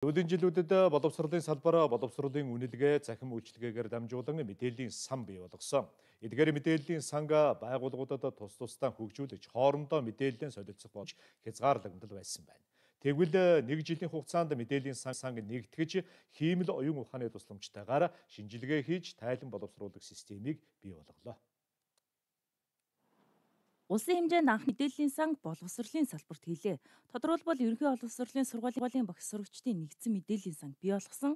Сүүлийн жилүүдэд боловсролын салбар боловсролын үнэлгээ, захим үйлчилгээгээр дамжуулан мэдээллийн сан бий болгосон. Эдгээр мэдээллийн санга байгууллагуудад тус тусдаа хөгжүүлж, хоорондоо мэдээллийн солилцох болж хязгаарлагнал байсан байна. Тэгвэл нэг жилийн хугацаанд мэдээллийн санг нэгтгэж, хиймэл оюун ухааны тусламжтайгаар шинжилгээ хийж, тайлан боловсруулах системийг бий болголоо. Улсын хэмжээнд анх мэдээллийн санг боловсролын салбарт хийлээ. Тодорхойлбол ерөнхий боловсролын сургуулийн багш сурагчдын нэгдсэн мэдээллийн санг бий болгосон.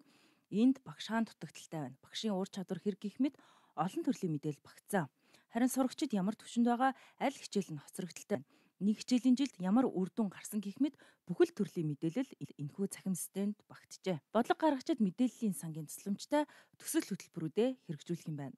Энд багш хаан дутагдaltaй байна. Багшийн ур чадвар хэрэг гэх мэт олон төрлийн мэдээлэл багтцсан. Харин сурагчид ямар төвшөнд байгаа, аль хичээл нь хоцрогдолтой байна. Нэг хичээлийн жилд ямар үр дүн гарсан гэх мэт бүхэл төрлийн мэдээлэл энэхүү цахим системд багтжээ. Бодлого гаргагчид мэдээллийн сангийн тусламжтай төсөл хөтөлбөрүүдэд хэрэгжүүлэх юм байна.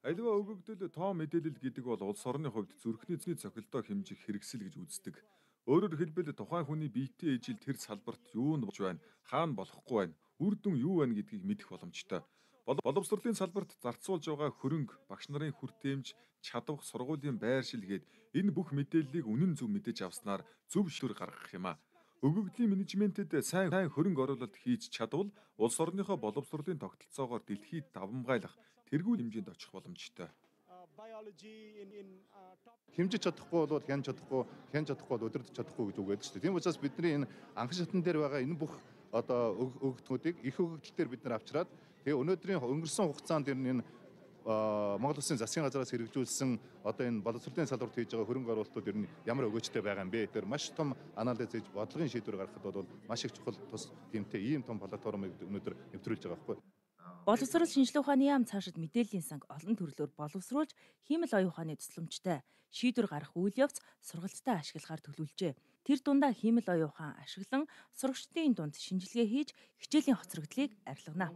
Аливаа өгөгдөл тоо мэдээлэл гэдэг бол улс орны хувьд зүрхний цохилтоо хэмжих хэрэгсэл гэж үздэг. Өөрөөр хэлбэл тухайн хүний биетэй ижил тэр салбарт юу нь болж байна, хаана болохгүй байна, үр дүн юу байна гэдгийг мэдэх боломжтой. Боловсролын салбарт зарцуулж байгаа хөрөнгө, багш нарын хүртээмж, чадвах, сургуулийн байршилгээд энэ бүх мэдээллийг үнэн зөв мэдэж авснаар зөв шийдвэр гаргах юм а. Өгөгдлийн менежментэд сайн хөрөнгө оруулалт хийж чадвал улс орныхоо боловсролын тогтолцоогоор дэлхийд давмгайлах тэргүүл хэмжээнд очих боломжтой. Хэмжиж чадахгүй бол хянж чадахгүй бол удирдах чадахгүй гэж үг байдаг шүү дээ. Тийм учраас бидний энэ анхан шатн дээр байгаа энэ бүх одоо өгөгдмүүдийг их өгөгдөл дээр бид нар авчираад тэгээ өнөөдрийн өнгөрсөн хугацаанд энэ Монгол Улсын засгийн газраас хэрэгжүүлсэн одоо энэ боловсролын салбарт хийж байгаа хөрөнгө оруулалтууд ер нь ямар өгөөжтэй байгаа юм бэ? Тэр маш том анализ хийж бодлогын шийдвэр гаргахад бол маш их чухал тус тэмтэй ийм том платформыг өнөөдөр нэвтрүүлж байгаа байхгүй. Боловсрол шинжилгээ ухааны яам цаашид мэдээллийн санг олон төрлөөр боловсруулж, хиймэл оюун ухааны тусламжтай шийдвэр гаргах үйл явц сургалттай ашиглахаар төлөвлөжээ. Тэр дундаа хиймэл оюун ухаан ашиглан сурагчдын дунд шинжилгээ хийж хичээлийн хоцрогдлыг арилгана.